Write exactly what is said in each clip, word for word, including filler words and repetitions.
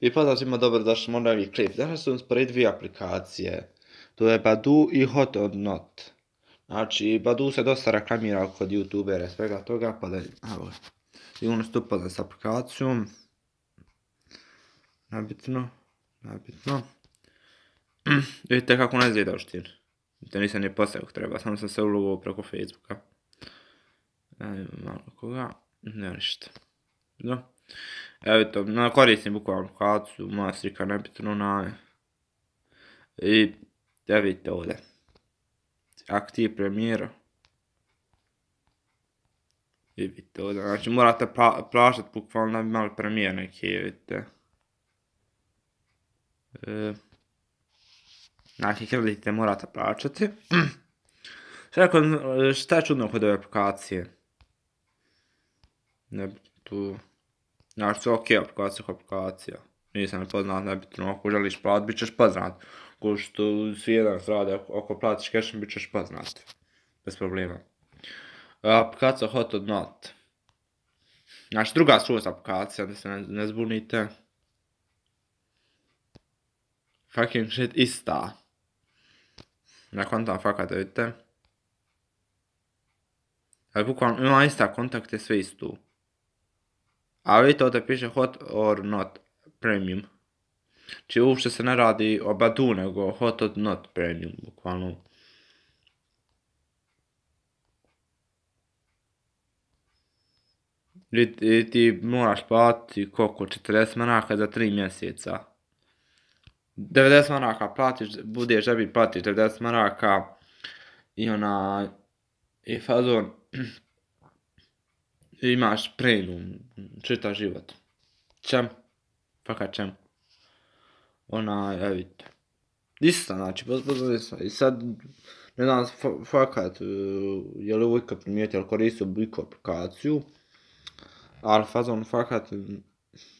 I pozdrav svima, dobrodošli u novi klip. Danas sam usporediti dvije aplikacije. To je Badoo i Hot or Not. Znači, Badoo se dosta reklamira kod youtubera i svega toga, pa da, evo, sigurno ste upoznali s aplikacijom. Nabitno, nabitno. Vidite kako ne izgleda uštini. To nisam ni postavio kako treba, samo sam se ulogovao preko Facebooka. Evo, malo koga, nema ništa. No. Evo to, koristim bukvalno aplikaciju, moja slika nebitno na... I, evo vidite ovdje. Aktiv premijera. I vidite ovdje, znači morate plaćati bukvalno da bi imali premijer neki, vidite. Znači, kredite morate plaćati. Šta je čudno kod ove aplikacije? Nebitno tu... Znači, to je ok aplikacija kao aplikacija. Nisam nepoznat, nebitno, ako želiš platiti, bit ćeš poznat. Ko što svi jedan rade, ako platiš cashom, bit ćeš poznat. Bez problema. Aplikacija Hot or Not. Znači, druga skroz aplikacija, da se ne zbunite. Fucking shit, ista. Ne kontam fakat, vidite. Ali bukvalno ima ista kontakte, sve istu. A vidite ovdje piše Hot or Not Premium. Znači uopšte se ne radi o Badoo, nego Hot or Not Premium, bukvalno. I ti moraš platiti koliko, četrdeset maraka za tri mjeseca. devedeset maraka platiš, budeš da bi platiš devedeset maraka i ona, i fazon, imaš premium, čitav život. Čem? Fakat čem? Ona, evo vidite. Ista, znači, pozbozno ista. I sad, ne znam, fakat, je li ovo ikad primijetio, ali koristio biku aplikaciju. Ali fazon, fakat,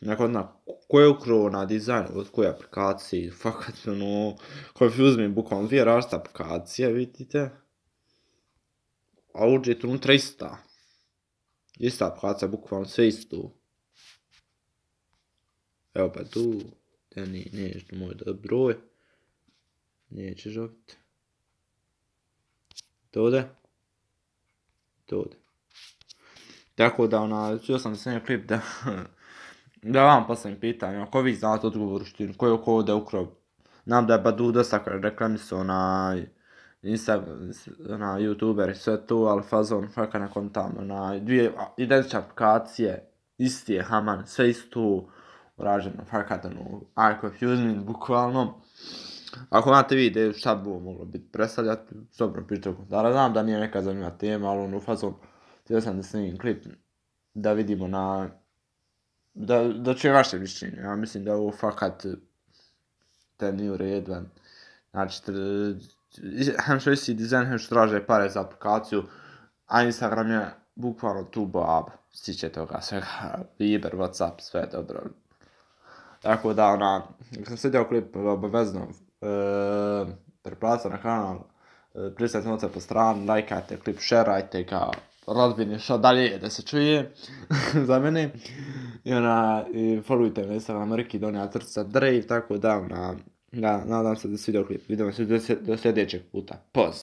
neko zna, ko je ukrao na dizajn od koje aplikacije, fakat, ono, confuse me, bukvalno dvije različite aplikacije, vidite. A uđete unutra ista. Ista aplikacija, bukvalno sve isto. Evo pa tu, te nećeš na moj broj. Nećeš opet. To ovdje. To ovdje. Tako da, ona, čuo sam da snimio klip da... Da vam postavim pitanje, ako vi znate odgovor u štini, ko je oko ovdje ukrao? Znam da je Badoo dosta reklamisao na... na youtuber i sve to, ali fazon, fakat nakon tamo, na dvije identične aplikacije, isti je haman, sve isto uraženo, fakat ono, I confuse me, bukvalno. Ako imate vi ideju šta bi ovo moglo biti predstavljati, dobro pišite u komentara, znam da nije neka zanimljiva tema, ali ono, fazon, htio sam da snimim klip, da vidimo na, da, da čujem vaše mišljenje, ja mislim da ovo fakat, te nije u redu, znači, hem što isti dizajn, hem što traže pare za aplikaciju, a Instagram je bukvalno tu bab, stiče toga svega, Viber, Whatsapp, sve dobro. Tako da, ona, ako sam svidio klip, obavezno, e, preplatite na kanal, e, pristavite noce po strani, lajkajte klip, šerajte ga, rodbini što dalje da se čuje za mene. I ona, i followujte me na Instagram, Riki Donja Trca Drave, tako da, ona, da, nadam se da se svidio klip. Vidimo se do sljedećeg puta. Poz!